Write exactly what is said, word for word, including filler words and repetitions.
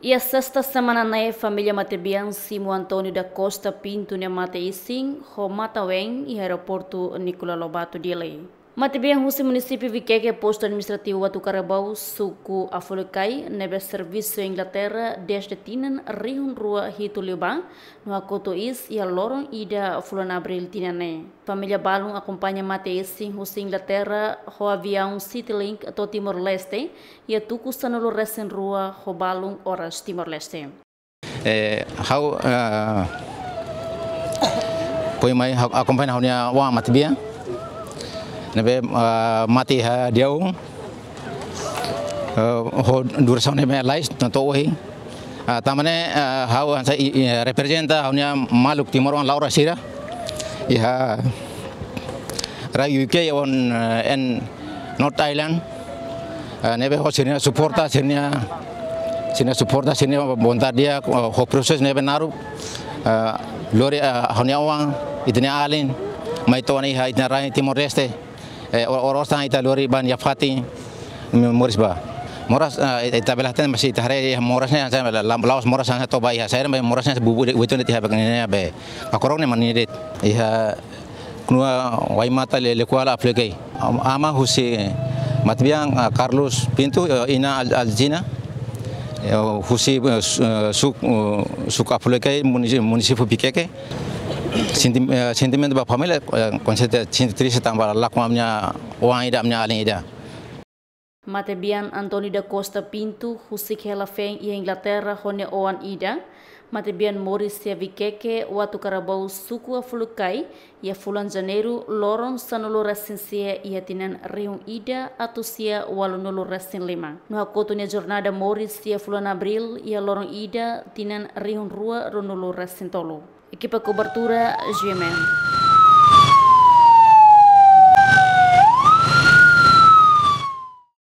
Iha sesta semana ne'e, família matebian simu António da Costa Pinto nia mate-isin ho matan-ween iha aeroportu Nicolau Lobato, Dili. Matebian husi munisípiu Viqueque, postu administrativu Uatucarabao, suku Afulucai, ne'ebé servisu iha Inglaterra dezde tinan rihun rua hitu liubá, no hakotu iis iha loron ida fulan Abríl tinan ne'e. Família balun akompaña mate-isin husi Inglaterra ho aviaun Citylink to'o Timor-Leste, iha tuku sanulu-resin-rua ho balun oras Timor-Leste. Eh, ha'u, eh, foin mai ha'u akompaña ha'u-nia oan matebian ne'ebé, eh, mate iha Diau, eh, ho durasaun ne'ebé lalais, tanba ohin. Ah, tanba ne'e, eh, ha'u hanesan i, i, reprezenta ha'u-nia maluk timoroan la'o rasira iha rai U K on, eh, en North Island. Eh, ne'ebé ho sira-nia suporta, sira-nia, sira-nia suporta, sira-nia vontade di'ak, eh, ho prosesu ne'ebé naruk, eh, lori, eh, ha'u-nia oan, ita-nia alin, mai to'o ona iha ita-nia rai Timor-Leste. Eh, or-, oras tan ita lori ba nia fatin, moris ba. Moras, eh, ita bele hatene, mas ita haree iha moras ne'e, hanesan la-, la-, la'ós moras hanesan toba iha saida, mas moras ne'e bubu de, bubu de tiha bak ne'e be. Akorok ne'e mak nia de'it. Iha knua Waimata le, Lekuala Afulucai. Am-, aman husi matebian, ah, Carlos Pinto, eh, inan Al-, Alzina, eh, husi, eh, su-, eh, suk-, eh, suku Afulucai, munisi-, munisípiu Viqueque. Senti-, eh, sentimentu ba família, eh, konserteza sente triste tanba lakon ami-nia oan ida, ami-nia alin ida. Matebian António da Costa Pinto husik hela feen iha Inglaterra ho nia oan ida. Matebian moris iha Viqueque, Uatucarabao, suku Afulucai, iha fulan Janeiru, loron sanulu-resin-sia iha tinan rihun ida atus sia ualunulu-resin-lima. No hakotu nia jornada moris iha fulan Abríl, iha loron ida tinan rihun rua ruanulu-resin-tolu. Ekipa kobertura, G M N.